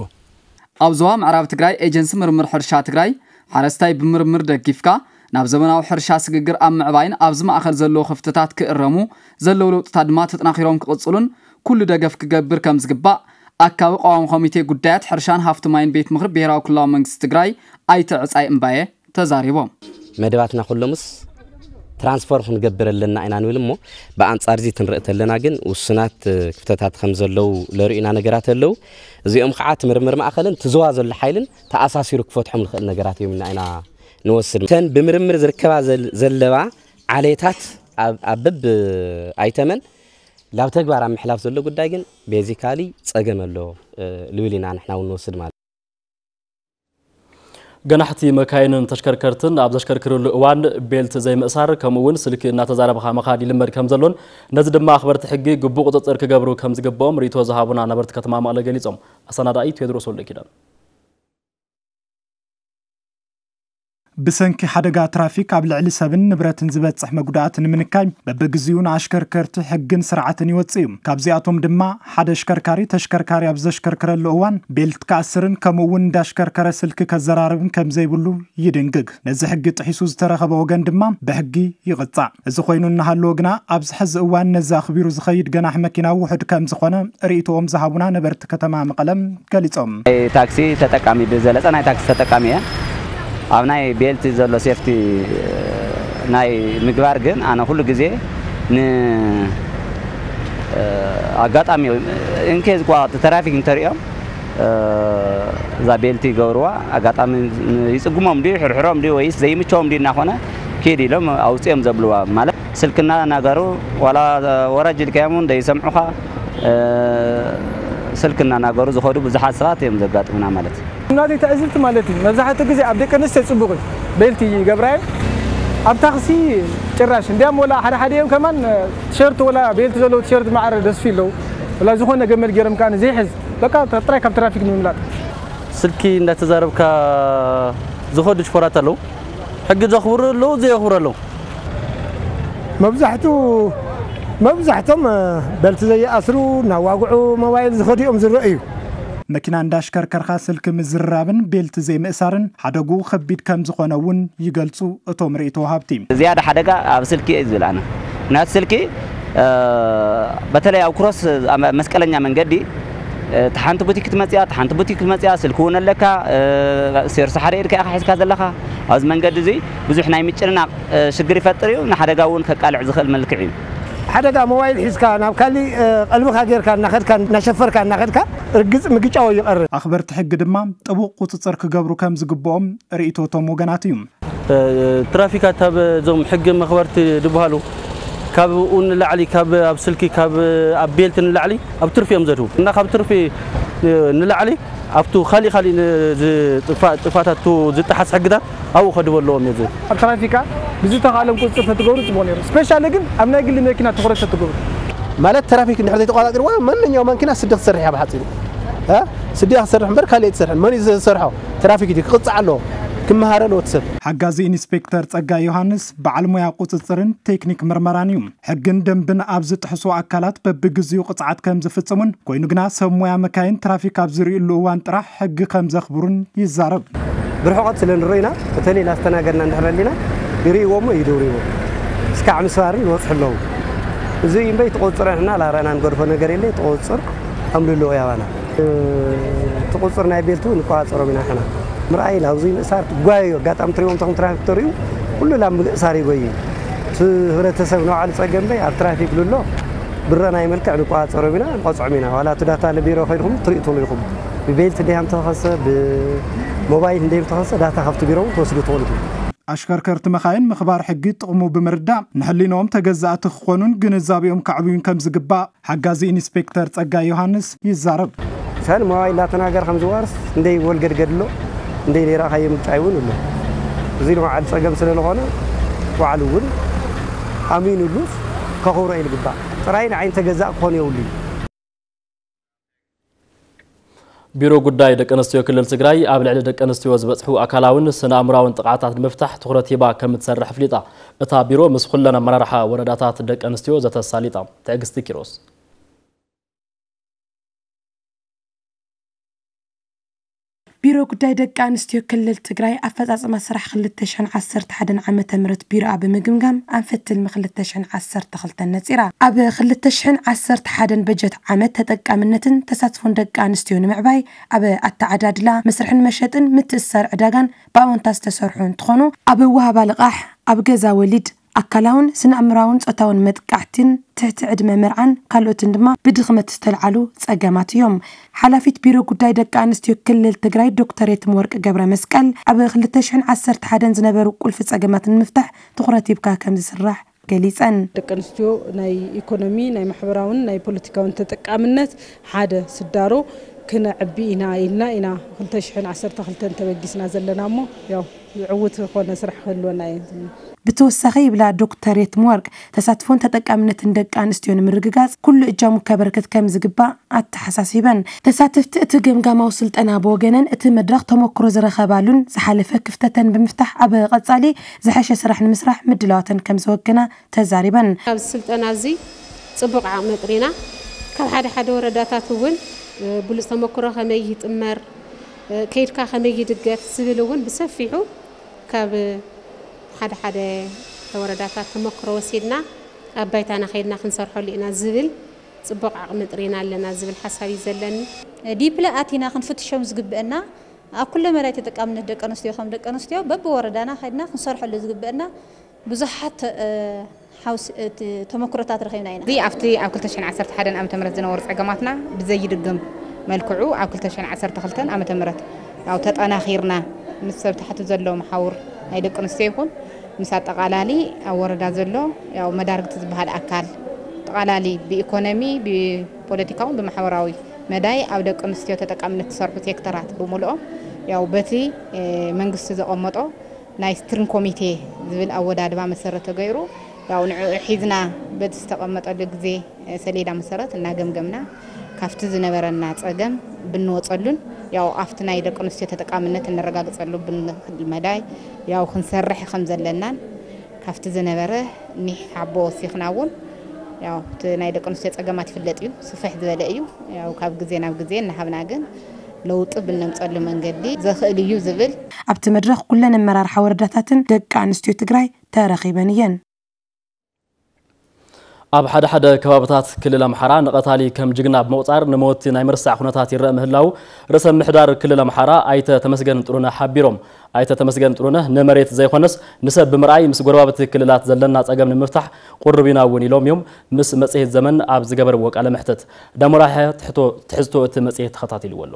ኣብ ዞባ ምዕራብ ትግራይ ኤጀንሲ ምርምር ሕርሻ ትግራይ ሓረስታይ ብምርምር ደጊፍካ ናብ ዘመናዊ ሕርሻ ስግግር ኣብ ምዕባይን ኣብዚ ማእኸል ዘለዉ ክፍተታት ክእረሙ ዘለዉ ለውጥታት ድማ ተጠናኺሮም ክቕፅሉን ኩሉ ደገፍ ክገብር ከም ዝግባእ ኣካቢ ቀዋሚ ኮሚቴ ጉዳያት ሕርሻን ሃፍቲ ማይን ቤት ምኽሪ ብሄራዊ ክልላዊ መንግስቲ ትግራይ ኣይተ ዕፃይ እምባየ ተዛሪቦም። መደባትና ኩሎምስ ትራንስፎርም ክንገብር ኣለና ኢና ንብል እሞ ብኣንጻር እዚ ትንርኢ ተለና ግን ውሱናት ክፍተታት ከም ዘለዉ ለርእዩና ነገራት ኣለዉ። እዚኦም ከዓ እቲ ምርምር ማእኸልን እቲ ዞባ ዘሎ ሓይልን ተኣሳሲሩ ክፈትሖም ዝኽእል ነገራት እዮም ኢና ኢና ንወስድ። እተን ብምርምር ዝርከባ ዘል-፣ ዘለዋ ዓሌታት ኣብ፣ ኣብ በብ ኣይተመን ላብ ተግባር ኣብ ምሕላፍ ዘሎ ጉዳይ ግን ቤዚካሊ ጸገም ኣሎ፣ እ፣ ልብል ኢና ንሕና እውን ንወስድ ማለት። ገናሕቲ መካይንን ተሽከርከርትን ኣብ ዘሽከርክርሉ እዋን ቤልት ዘይምእሳር፣ ከምኡ እውን ስልኪ እናተዛረብኻ ምኻድ ይልመድ ከም ዘሎን ነዚ ድማ ኣኽበርቲ ሕጊ ግቡእ ቁፅፅር ክገብሩ ከም ዝግብኦም ርእይቶ ዝሃቡና ነበርቲ ከተማ መቐለ ገሊፆም። ኣሰናዳኢ ቴዎድሮስ ወልደኪዳን። ብሰንኪ ሓደጋ ትራፊክ ኣብ ልዕሊ ሰብን ንብረትን ዝበጽሕ መጉዳእቲ ንምንካይ በብግዚኡ ንኣሽከርከርቲ ሕግን ስርዓትን ይወጽእ እዩ። ካብዚኣቶም ድማ ሓደ ኣሽከርካሪ ተሽከርካሪ ኣብ ዘሽከርክረሉ እዋን ቤልት ክኣስርን ከምኡ እውን እንዳሽከርከረ ስልኪ ከዘራርብን ከም ዘይብሉ ይድንግግ። ነዚ ሕጊ ጥሒሱ ዝተረኸበ ወገን ድማ ብሕጊ ይቕጻዕ። እዚ ኮይኑ እናሃለወ ግና ኣብዚ ሕዚ እዋን ነዚ ኣኽቢሩ ዝኸይድ ገናሕ መኪና ውሑድ ከም ዝኾነ ርእይቶኦም ዝሃቡና ነበርቲ ከተማ መቐለም ገሊጾም። ናይ ታክሲ ተጠቃሚ፣ ብዝበለጸ ናይ ታክሲ ተጠቃሚ እየ። ኣብ ናይ ቤልት ዘሎ ሴፍቲ ናይ ምግባር ግን ኣነ ኩሉ ግዜ ን ኣጋጣሚ ኢንኬዝ ኳ ትራፊክ እንተሪኦም እዛ ቤልቲ ይገብርዋ፣ ኣጋጣሚ ይጽግሞም ድዩ፣ ይሕርሕሮም ድዩ፣ ወይስ ዘይምቸዎም ድዩ እናኾነ ኪድ ኢሎም ኣውጽኦም ዘብልዋ። ማለት ስልክና እናገሩ፣ ዋላ ወረጅ ኢልካዮም እውን ዘይሰምዑኻ፣ ስልክና እናገሩ ዝኸዱ ብዙሓት ሰባት እዮም ዘጋጥሙና ማለት እዩ። ናተይ ትዕዝብቲ ማለት እዩ፣ መብዛሕትኡ ግዜ ኣብ ደቂ ኣንስትዮ ጽቡቕ እዩ፣ ቤልቲ ይገብራ እየን። ኣብ ታክሲ ጭራሽ እንዲያም ወላ ሓደ ሓደ እዮም ከማን ቲሸርት ወላ ቤልቲ ዘለዎ ቲሸርት ማዕረ ደስፊ ኣለዉ። ወላ ዝኾነ ገመድ ገይሮም ከኣ ዘይሕዝ በቃ ጥራይ ካብ ትራፊክ ንምምላጥ። ስልኪ እንዳተዛረብካ ዝኸዱ ሽፈራት ኣለዉ። ሕጊ ዘኽብሩ ኣለዉ፣ ዘየኽብሩ ኣለዉ። መብዛሕቱ መብዛሕቶም ቤልት ዘይኣስሩ፣ እናዋግዑ ሞባይል ዝኸዱ እዮም ዝረኣዩ። መኪና እንዳሽከርከርካ ስልኪ ምዝርራብን ቤልት ዘይምእሳርን ሓደጉ ከቢድ ከም ዝኾነ እውን ይገልጹ እቶም ርእይቶ ወሃብቲ። ዝያዳ ሓደጋ ኣብ ስልኪ እዩ ዝብል ኣነ። ምክንያቱ ስልኪ በተለይ ኣብ ክሮስ፣ ኣብ መስቀለኛ መንገዲ፣ እቲ ሓንቲ ቡቲክ ክትመጽያ፣ እቲ ሓንቲ ቡቲክ ክትመጽያ፣ ስልኪ እውን ኣለካ፣ ሴርሱ ሓደ ኢድካ ኢኻ ሒዝካ ዘለኻ። ኣብዚ መንገዲ እዚ ብዙሕ ናይ ምጭንናቕ ሽግር ይፈጥር እዩ፣ ንሓደጋ እውን ከቃልዕ ዝኽእል መልክዕ እዩ። ሓደጋ ሞባይል ሒዝካ ናብ ካሊእ ቀልብኻ ጌርካ እናኸድካ፣ እናሸፈርካ እናኸድካ ርግጽ ምግጫው ይቐርብ። ኣኽበርቲ ሕጊ ድማ ጥቡቕ ቁጽጽር ክገብሩ ከም ዝግብኦም ርእይቶ እቶም ወገናት እዩ። ትራፊካት ኣብ እዞም ሕጊ መኽበርቲ ዝበሃሉ ካብኡ ንላዕሊ፣ ካብ ኣብ ስልኪ፣ ካብ ኣብ ቤልት ንላዕሊ ኣብ ትርፊ እዮም ዘድህቡ። እና ካብ ትርፊ ንላዕሊ ኣብቱ ካሊእ ካሊእ ጥፋታት ዝጠሓስ ሕግታት ኣብኡ ከድበለዎም እዩ። ኣብ ትራፊካ ብዝተኻእሎም ቁፅፅር ተትገብሩ ፅቡቕ ነይሩ። ስፔሻሊ ግን ኣብ ናይ ግሊ መኪና ትኹረት ተትገብሩ። ማለት ትራፊክ እንድሕር ዘይተቋፃፂርዋ ማንኛውም ማኪና ስዲ ክትሰርሕ እያ ብሓፂሩ። እ? ስዲ እያ ክትሰርሕ እምበር ካልእ ኣይትሰርሕን። መን እዩ ዝሰርሖ? ትራፊክ እዩ ክቕፃዕ ኣለዎ። ክመሃር ኣለዎ እቲ ሰብ። ሓጋዚ ኢንስፔክተር ጸጋይ ዮሃንስ በዓል ሞያ ቁጽጽርን ቴክኒክ ምርመራን እዩ። ሕግን ደንብን ኣብ ዝጥሕሱ ኣካላት በብግዚኡ ቅጽዓት ከም ዝፍጽሙን ኮይኑ ግና ሰብ ሞያ መካይን ትራፊክ ኣብ ዝርእዩሉ እዋን ጥራሕ ሕጊ ከም ዘኽብሩን ይዛረብ። ብርሕቐት ስለ ንረኢና፣ በተለይ ላስተናገድና እንድሕር ኣሊና ይርእይዎ እሞ ይድውርይዎ። እስካዕ ምስባርን ይበጽሑ ኣለዉ። እዚ እምበይ ትቑጽር ንሕና ላረና ንገድፎ ነገር የለ፣ ትቑጽር ኣምልሎ ያባና። ትቑጽር ናይ ቤልቱ ንቆጻጸሮም ኢና ንሕና። ምርኣይ ላብዚ ምእሳር ትጓየዩ ኣጋጣሚ ትሪእዎም ተኹም ትራፊክ ተርእዩ ኩሉ ላብ ምእሳር ይጎይ። እቲ ህብረተሰብ ንባዕሉ ጸገም እምበይ ኣብ ትራፊክ ልሎ ብረናይ መልክዕ ንቆጻጸሮም ኢና፣ ንቆጽዖም ኢና። ዋላ እቲ ዳታ ለቢሮ ከይድኩም ትርእዩ ትኽእሉ ኢኹም። ብቤልት እንዲያም ተኸሰ፣ ብሞባይል እንዲያም ተኸሰ ዳታ ካብቲ ቢሮ እውን ትወስዱ ትኽእሉ ኢኹም። ኣሽከርከርቲ መኻይን ምኽባር ሕጊ ጥቕሙ ብምርዳእ ንሕሊንኦም ተገዛእቲ ክኾኑን ግንዛቤኦም ከዕብዩን ከም ዝግባእ ሓጋዚ ኢንስፔክተር ጸጋይ ዮሃንስ ይዛረብ። ሰን ሞባይል ላተናገር ከም ዝዋርስ እንደይ ወልገድገድ ኣሎ፣ እንደይ ሌራ ካየ ምጫይ እውን ኣሎ። እዚ ንባዕሉ ጸገም ስለ ዝኾነ ባዕሉ እውን ኣሚኑሉ ከኽብሮ እዩ ዝግባእ። ጥራይ ንዓይን ተገዛእ ክኾን የብሉ እዩ። ቢሮ ጉዳይ ደቂ ኣንስትዮ ክልል ትግራይ ኣብ ልዕሊ ደቂ ኣንስትዮ ዝበፅሑ ኣካላውን ስነ ኣእምራውን ጥቕዓታት ንምፍታሕ ትኹረት ሂባ ከም እትሰርሕ ኣፍሊጣ። እታ ቢሮ ምስ ኩለን ኣመራርሓ ወረዳታት ደቂ ኣንስትዮ ዘተሳሊጣ። ትዕግስቲ ኪሮስ። ቢሮ ጉዳይ ደቂ ኣንስትዮ ክልል ትግራይ ኣፈፃፅማ ስራሕ ክልተ ሽሕን ዓሰርተ ሓደን ዓመተ ምህረት ቢሮኣ ብምግምጋም ኣንፈት ትልሚ ክልተ ሽሕን ዓሰርተ ክልተን ነፂራ። ኣብ ክልተ ሽሕን ዓሰርተ ሓደን በጀት ዓመት ተጠቃምነትን ተሳትፎን ደቂ ኣንስትዮ ንምዕባይ ኣብ ኣተዓዳድላ፣ መስርሕን መሸጥን ምትእስሳር ዕዳጋን ብኣወንታ ዝተሰርሑ እንትኾኑ፣ ኣብ ወሃባ ልቓሕ፣ ኣብ ገዛ ወሊድ፣ ኣካላውን ስነ ኣእምራውን ጾታውን መጥቃዕትን ትሕቲ ዕድመ መርዓን ካልኦትን ድማ ብድኽመት ዝተልዓሉ ጸገማት እዮም። ሓላፊት ቢሮ ጉዳይ ደቂ ኣንስትዮ ክልል ትግራይ ዶክተር የትምወርቅ ገብረ መስቀል ኣብ ክልተ ሽሕን ዓሰርተ ሓደን ዝነበሩ ቁልፊ ጸገማት ንምፍታሕ ትኹረት ሂብካ ከም ዝስራሕ ገሊጸን። ደቂ ኣንስትዮ ናይ ኢኮኖሚ፣ ናይ ማሕበራውን ናይ ፖለቲካውን ተጠቃምነት ሓደ ስዳሮ ክነዕቢ ኢና ኢልና ኢና ክልተ ሽሕን ዓሰርተ ክልተን ተበጊስና ዘለና እሞ፣ ያው ዕዉት ዝኾነ ስራሕ ክህልወና እዩ። ብተወሳኺ ይብላ ዶክተር የትምወርቅ፣ ተሳትፎን ተጠቃምነትን ደቂ ኣንስትዮ ንምርግጋጽ ኩሉ እጃሙ ከበርክት ከም ዝግባእ ኣተሓሳሲበን። ተሳተፍቲ እቲ ገምጋማዊ ስልጠና ብወገነን እቲ መድረኽ ተመክሮ ዝረኸባሉን ዝሓለፈ ክፍተተን ብምፍታሕ ኣብ ቀጻሊ ዝሐሸ ስራሕ ንምስራሕ ምድላዋተን ከም ዘወገና ተዛሪበን። ኣብዚ ስልጠና እዚ ጽቡቕ ዓቕሚ ኣጥሪና፣ ካብ ሓደ ሓደ ወረዳታት እውን ብሉጽ ተመክሮ ከመይ ይጥመር፣ ከይድካ ከመይ ይድገፍ ዝብል እውን ብሰፊሑ ካብ ሓደ ሓደ ወረዳታት ተመክሮ ወሲድና ኣብ ባይታና ከይድና ክንሰርሐሉ ኢና ዝብል ጽቡቕ ዓቕሚ ጥሪና ኣለና ዝብል ሓሳብ እዩ ዘለኒ። ዲፕለ ኣቲና ክንፍትሾም ዝግብአና ኣብ ኩለ መዳይ ተጠቃምነት ደቂ ኣንስትዮ ከም ደቂ ኣንስትዮ በብወረዳና ከይድና ክንሰርሐሉ ዝግብአና ብዙሓት ሓውስ ተመክሮታት ረኺብና ኢና። እዚ ኣብቲ ኣብ ክልተ ሽሕን ዓሰርተ ሓደን ዓመተ ምህረት ዝነበሩ ጸገማትና ብዘይድገም መልክዑ ኣብ ክልተ ሽሕን ዓሰርተ ክልተን ዓመተ ምህረት ያው ተጠናኺርና ምስ ሰብ ታሕቲ ዘሎ መሓውር ናይ ደቂ ኣንስትዮ ይኹን ምስ ኣጠቓላሊ ኣብ ወረዳ ዘሎ ያው መዳርግቲ ዝበሃል ኣካል ኣጠቓላሊ ብኢኮኖሚ ብፖለቲካውን ብማሕበራዊ መዳይ ኣብ ደቂ ኣንስትዮ ተጠቃምነት ዝሰርሑ ሴክተራት ብምልኦም ያው በቲ መንግስቲ ዘቐመጦ ናይ ስትሪንግ ኮሚቴ ዝብል ኣወዳድባ መሰረት ተገይሩ ያው ንዕኡ ሒዝና በቲ ዝተቐመጠሉ ግዜ ሰሌዳ መሰረት እናገምገምና ካብቲ ዝነበረና ጸገም ብንወጸሉን ያው ኣብቲ ናይ ደቂ ኣንስትዮ ተጠቃምነት እነረጋግጸሉ ብንኽእል መዳይ ያው ክንሰርሕ ከም ዘለናን ካብቲ ዝነበረ ኒሕ ሓቦ ወሲኽና እውን ያው እቲ ናይ ደቂ ኣንስትዮ ጸገማት ይፍለጥ እዩ፣ ስፍሕ ዝበለ እዩ። ያው ካብ ግዜ ናብ ግዜ እናሃብና ግን ለውጢ ብነምፀሉ መንገዲ ዘኽእል እዩ ዝብል ኣብቲ መድረኽ ኩለን ኣመራርሓ ወረዳታትን ደቂ ኣንስትዮ ትግራይ ተረኺበን እየን። ኣብ ሓደ ሓደ ከባብታት ክልል ኣምሓራ ንቐታሊ ከም ጅግና ብምቑፃር ንመወቲ ናይ ምርሳዕ ኩነታት ይረአ ምህላው ርእሰ ምምሕዳር ክልል ኣምሓራ ኣይተ ተመስገን ጥሩነህ ሓቢሮም። ኣይተ ተመስገን ጥሩነህ ንመሬት ዘይኮነስ ንሰብ ብምርኣይ ምስ ጎረባብቲ ክልላት ዘለና ፀገም ንምፍታሕ ቁሩብ ኢና እውን ኢሎም እዮም ምስ መፅሄት ዘመን ኣብ ዝገበርዎ ቃለ መሕተት። ዳሞራ ያሕያ ትሕዝቶ እቲ መፅሄት ተኸታቲልዎ ኣሎ።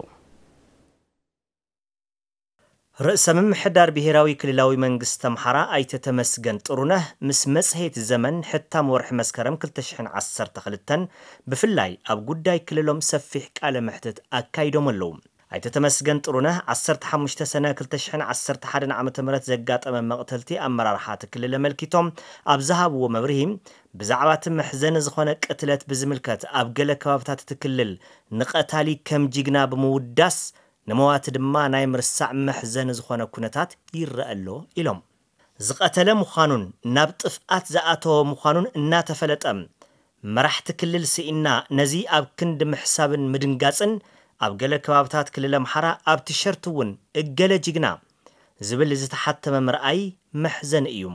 ርእሰ ምምሕዳር ብሄራዊ ክልላዊ መንግስቲ ኣምሓራ ኣይተ ተመስገን ጥሩነህ ምስ መፅሄት ዘመን ሕታም ወርሒ መስከረም ክልተ ሽሕን ዓሰርተ ክልተን ብፍላይ ኣብ ጉዳይ ክልሎም ሰፊሕ ቃለ መሕትት ኣካይዶም ኣለዉ። ኣይተ ተመስገን ጥሩነህ ዓሰርተ ሓሙሽተ ሰነ ክልተ ሽሕን ዓሰርተ ሓደን ዓመተ ምህረት ዘጋጠመ መቕተልቲ ኣመራርሓ እቲ ክልል ኣመልኪቶም ኣብ ዝሃብዎ መብርሂ ብዛዕባ እቲ መሕዘኒ ዝኾነ ቅትለት ብዝምልከት ኣብ ገለ ከባብታት እቲ ክልል ንቐታሊ ከም ጅግና ብምውዳስ ንመዋቲ ድማ ናይ ምርሳዕ መሕዘኒ ዝኾነ ኩነታት ይረአ ኣሎ ኢሎም። ዝቐተለ ምዃኑን ናብ ጥፍኣት ዝኣተወ ምዃኑን እናተፈለጠ መራሕቲ ክልል ስኢንና ነዚ ኣብ ክንዲ ምሕሳብን ምድንጋጽን ኣብ ገለ ከባብታት ክልል ኣምሓራ ኣብ ቲሸርት እውን እገለ ጅግና ዝብል ዝተሓተመ ምርኣይ መሕዘኒ እዩ።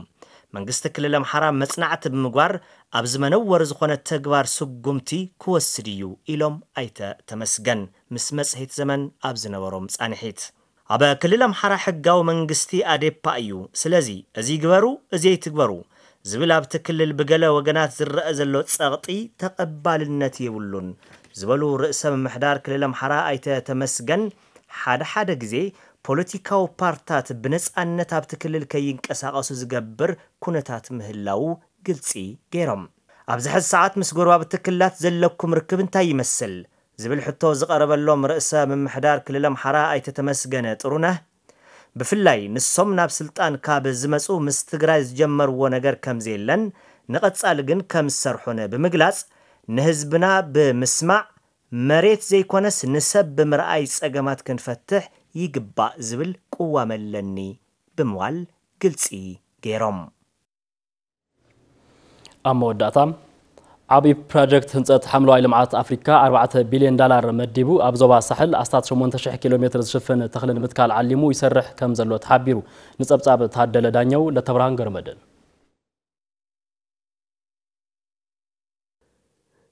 መንግስቲ ክልል ኣምሓራ መጽናዕቲ ብምግባር ኣብዚ መነወሪ ዝኾነ ተግባር ስጉምቲ ክወስድ እዩ ኢሎም ኣይተ ተመስገን ምስ መጽሔት ዘመን ኣብ ዝነበሮም ጻንሒት። ኣብ ክልል ኣምሓራ ሕጋዊ መንግስቲ ኣዴፓ እዩ። ስለዚ እዚ ግበሩ፣ እዚ ኣይትግበሩ ዝብል ኣብቲ ክልል ብገለ ወገናት ዝረአ ዘሎ ጸቕጢ ተቐባልነት የብሉን ዝበሉ ርእሰ ምምሕዳር ክልል ኣምሓራ ኣይተ ተመስገን ሓደ ሓደ ግዜ ፖለቲካዊ ፓርታት ብነጻነት ኣብቲ ክልል ከይንቀሳቐሱ ዝገብር ኩነታት ምህላዉ ግልጺ ገይሮም። ኣብዚ ሕዚ ሰዓት ምስ ጎረባብቲ ክልላት ዘለኩም ርክብ እንታይ ይመስል? ዝብል ሕቶ ዝቐረበሎም ርእሰ ምምሕዳር ክልል ኣምሓራ ኣይተ ተመስገን ጥሩነህ ብፍላይ ንሶም ናብ ስልጣን ካብ ዝመጹ ምስ ትግራይ ዝጀመርዎ ነገር ከም ዘየለን ንቐጻሊ ግን ከም ዝሰርሑን ብምግላጽ ንህዝብና ብምስማዕ መሬት ዘይኮነስ ንሰብ ብምርኣይ ጸገማት ክንፈትሕ ይግባእ ዝብል ቅዋም ኣለኒ ብምባል ግልጺ ገይሮም። ኣብ መወዳእታ ዓብዪ ፕሮጀክት ህንፀት ሓምለዋይ ልምዓት ኣፍሪካ ኣርባዕተ ቢልዮን ዳላር መዲቡ ኣብ ዞባ ሳሕል ኣስታት ሸሞንተ ሽሕ ኪሎ ሜትር ዝሽፍን ተኽሊ ንምትካል ዓሊሙ ይሰርሕ ከም ዘሎ ተሓቢሩ። ንፀብፃብ ታደለ ዳኘው ለተብርሃን ገረመድን።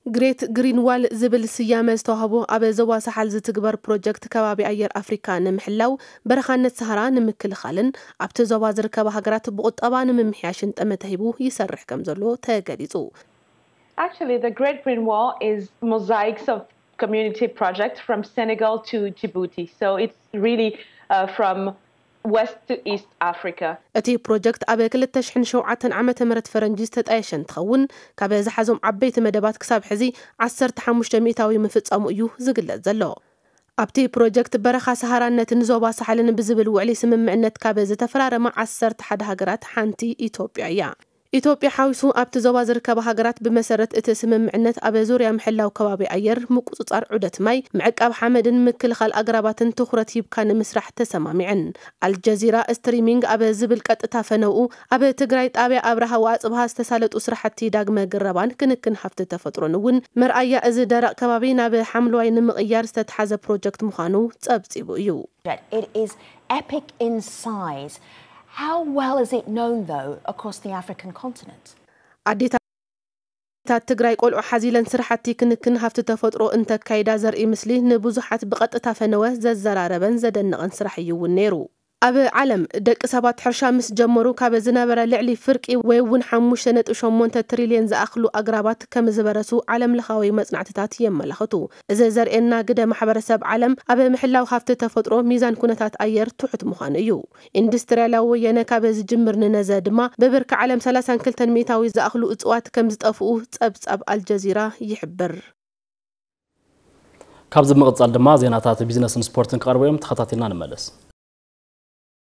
ግሬት ግሪን ዋል ዝብል ስያመ ዝተዋህቦ ኣብ ዞባ ሳሓል ዝትግበር ፕሮጀክት ከባቢ ኣየር ኣፍሪካ ንምሕላው፣ በረኻነት ሰሃራ ንምክልኻልን ኣብቲ ዞባ ዝርከባ ሃገራት ብቁጠባ ንምምሕያሽን ጠመተ ሂቡ ይሰርሕ ከም ዘሎ ተገሊጹ። Actually, the Great Green Wall is mosaics of community projects from Senegal to Djibouti. So it's really uh, from west to east Africa. እቲ ፕሮጀክት ኣብ ክልተ ሽሕን ሸውዓተን ዓመተ ምህረት ፈረንጂ ዝተጣየሸ እንትኸውን፣ ካብ ዝሓዞም ዓበይቲ መደባት ክሳብ ሕዚ ዓሰርተ ሓሙሽተ ሚእታዊ ምፍጻሙ እዩ ዝግለጽ ዘሎ። ኣብቲ ፕሮጀክት በረኻ ሰሃራነትን ዞባ ሳሕልን ብዝብል ውዕሊ ስምምዕነት ካብ ዝተፈራረማ ዓሰርተ ሓደ ሃገራት ሓንቲ ኢትዮጵያ እያ። ኢትዮጵያ ሓዊሱ ኣብቲ ዞባ ዝርከባ ሃገራት ብመሰረት እቲ ስምምዕነት ኣብ ዙርያ ምሕላው ከባቢ ኣየር፣ ምቁጽጻር ዑደት ማይ፣ ምዕቃብ ሓመድን ምክልኻል ኣግራባትን ትኹረት ሂብካ ንምስራሕ ተሰማሚዐን። ኣልጀዚራ ስትሪሚንግ ኣብ ዝብል ቀጥታ ፈነውኡ፣ ኣብ ትግራይ ጣብያ ኣብርሃ ወኣጽብሃ ዝተሳለጡ ስራሕቲ ዳግመ ግረባን ክንክን ሃፍቲ ተፈጥሮን እውን መርኣያ እዚ ደረቕ ከባቢ ናብ ሓምለዋይ ንምቕያር ዝተትሓዘ ፕሮጀክት ምዃኑ ጸብጺቡ እዩ። It is epic in size. How well is it known, though, across the African continent? ኣዴታት ትግራይ ቆልዑ ሓዚለን ስራሕቲ ክንክን ሃፍቲ ተፈጥሮ እንተካይዳ ዘርኢ ምስሊ ንብዙሓት ብቐጥታ ፈነወ ዘዘራረበን ዘደነቐን ስራሕ እዩ እውን ነይሩ። ኣብ ዓለም ደቂ ሰባት ሕርሻ ምስ ጀመሩ ካብ ዝነበረ ልዕሊ ፍርቂ ወይ እውን ሓሙሽተ ነጥቢ ሸሞንተ ትሪልየን ዝኣኽሉ ኣግራባት ከም ዝበረሱ ዓለም ለኻዊ መጽናዕትታት የመላኽቱ። እዚ ዘርእየና ግደ ማሕበረሰብ ዓለም ኣብ ምሕላው ሃፍቲ ተፈጥሮ ሚዛን ኩነታት ኣየር ትሑት ምዃኑ እዩ። ኢንዱስትርያላዊ ወየነ ካብ ዝጅምር ንነዘ ድማ ብብርኪ ዓለም ሰላሳን ክልተን ሚእታዊ ዝኣኽሉ እፅዋት ከም ዝጠፍኡ ጸብጻብ ኣልጀዚራ ይሕብር። ካብዚ ብምቕጻል ድማ ዜናታት ቢዝነስን ስፖርትን ክቐርቡ እዮም። ተኸታቲልና ንመለስ።